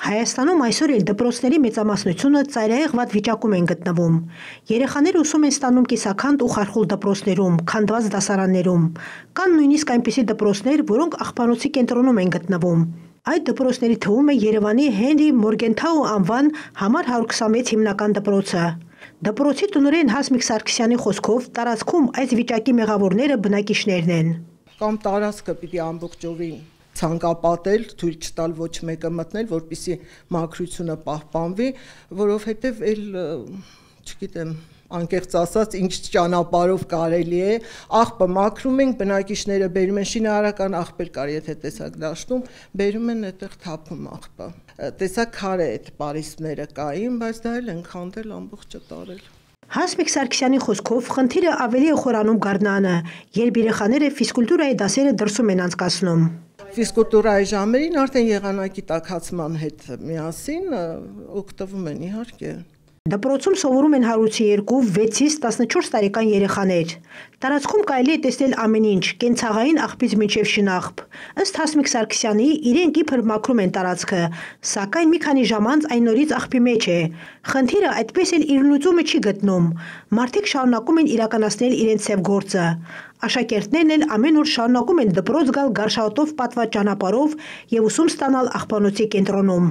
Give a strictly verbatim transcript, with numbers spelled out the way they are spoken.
Հայաստանում այսօր էլ դպրոցների մեծամասնությունը ծայրահեղ վատ վիճակում են գտնվում։ Երեխաները ուսում են ստանում կիսաքանդ ու խարխուլ դպրոցներում, քանդված դասարաններում։ Կան նույնիսկ այնպիսի դպրոցներ, որոնք աղբանոցի կենտրոնում են գտնվում։ Այդ դպրոցների թվում է Երևանի Հենրի Մորգենթաու անվան համար հարյուր քսանվեց հիմնական դպրոցը։ Դպրոցի տնօրեն Հասմիկ Սարգսյանի խոսքով տարածքում այս վիճակի մեղավորները բնակիչներն են։ Կամ տարածքը պիտի ամբողջովին ցանկապատել, թույլ չտալ ոչ մեկը մտնել, որպեսզի մաքրությունը պահպանվի, որովհետև էլ, չգիտեմ, անկեղծ ասած, ինչ ճանապարհով կարելի է, աղբը մաքրում ենք, բնակիչները բերում են շինարարական աղբեր կար, եթե տեսակ դաշտում, բերում են այդտեղ թափում աղբը։ Տեսակ քարե այդ պարիսպները կային, բայց դա էլ են քանդել, ամբողջը տարել։ Հասմիկ Սարգսյանի խոսքով խնդիրը ավելի է խորանում գարնանը, երբ երեխաները ֆիզկուլտուրայի դասերը դրսում են անցկացնում։ Ֆիզկուլտուրայի ժամերին արդեն եղանակի տաքացման հետ միասին օգտվում են, իհարկե։ Դպրոցում սովորում են հարյուրից երկու, վեցից տասնչորս տարեկան երեխաներ։ Տարածքում կարելի է տեսնել ամեն ինչ՝ կենցաղային աղբից մինչև շնաղբ։ Ըստ Հասմիկ Սարգսյանի, իրենք իբր մաքրում են տարածքը, սակայն մի քանի ժամ անց այն նորից աղբի մեջ է։ Խնդիրը այդպես էլ իր լուծումը չի գտնում։ Մարդիկ շարունակում են իրականացնել իրենց սև գործը։ Աշակերտներն էլ ամեն օր շարունակում են դպրոց գալ գարշաոտով պատված ճանապարհով և ուսում ստանալ աղբանոցի կենտրոնում։